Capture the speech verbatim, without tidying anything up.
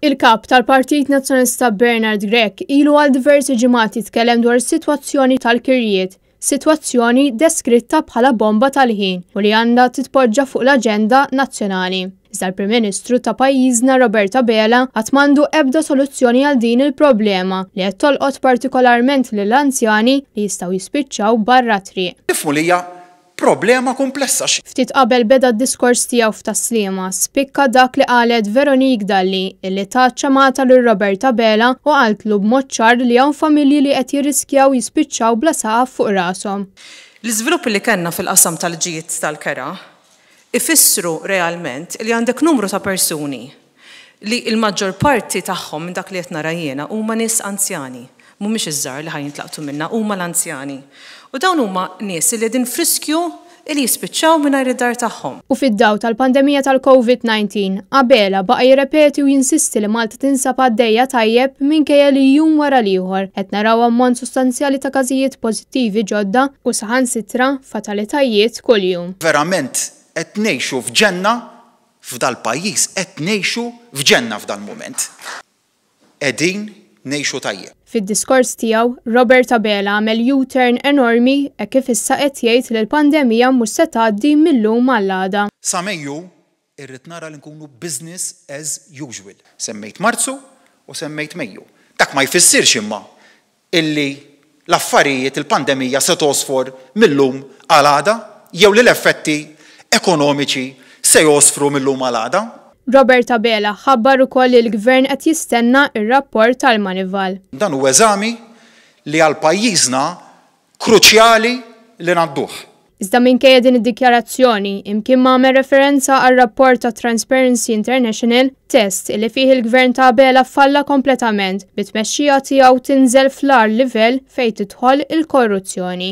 Il-kap tal-Partit Nazzjonalista Bernard Grech ilu għal diversi ġimgħat jitkellem dwar is-sitwazzjoni tal-kirjiet, sitwazzjoni deskritta bħala bomba tal-ħin u li għandha titpoġġa fuq l-aġenda nazzjonali. Iżda l-Prim Ministru ta' pajjiżna Robert Abela qatt m'għandu ebda soluzzjoni għal din il-problema li qed tolqot partikolarment lill-anzjani li jistgħu jispiċċaw barra triq. Nifhmu li hija problema komplessa. Ftit qabel beda d-diskors tiegħu f'Tas-Sliema, spikka dak li qalet Veronique Dalli, illi tat ċamata lil Robert Abela u qaltlu b'mod ċar li hawn familji li qed jirriskjaw jispiċċaw bla saqaf fuq rashom. L-iżviluppi li kellna fil-qasam tal-ġiet tal-kera ifissru realment li għandek numru ta' persuni li l-maġġor parti tagħhom, minn dak li qed nara jiena, huma nies anzjani. Mhumiex iż-żgħar li ħa jintlaqtu minna, huma l-anzjani. U dawn huma nies li qegħdin f'riskju li jispiċċaw mingħajr id-dar tagħhom. U fid-daw tal-pandemija tal-Covid dawnain, Abela baqa' jirrepeti u jinsisti li Malta tinsab għaddejja tajjeb, minkejja li jum wara l-ieħor qed naraw ammont sostanzjali ta' każijiet pożittivi ġodda u saħansitra fatalitajiet kuljum. Verament qed ngħixu f'ġenna f'dal-pajjiż, qed ngħixu f'ġenna f'dal-mument. Qegħdin ngħixu tajjeb. Fid-diskors tiegħu, Robert Abela għamel U-turn enormi e kif issa qed jgħid li l-pandemija mhux se tgħaddi mill-lum għall-għada. Sa Mejju irrid nara li nkunu business as usual. Semmejt Marzu u semmejt Mejju. Dak ma jfissirx imma illi l-affarijiet, il-pandemija se tosfor mill-lum għal għada jew li l-effetti ekonomiċi se josfru mill-lum għal għada. Robert Abela ħabbar ukoll li l-gvern qed jistenna ir-rapport tal-Moneyval. Dan huwa eżami li għal pajjiżna kruċjali li ngħadduh. Iżda minkejja din id-dikjarazzjoni, imkien ma għamel referenza għal rapport ta' Transparency International, test li fih il-gvern ta' Abela falla kompletament, bit-tmexxija tiegħu tinżel fl-agħar livell fejn tidħol il-korruzzjoni.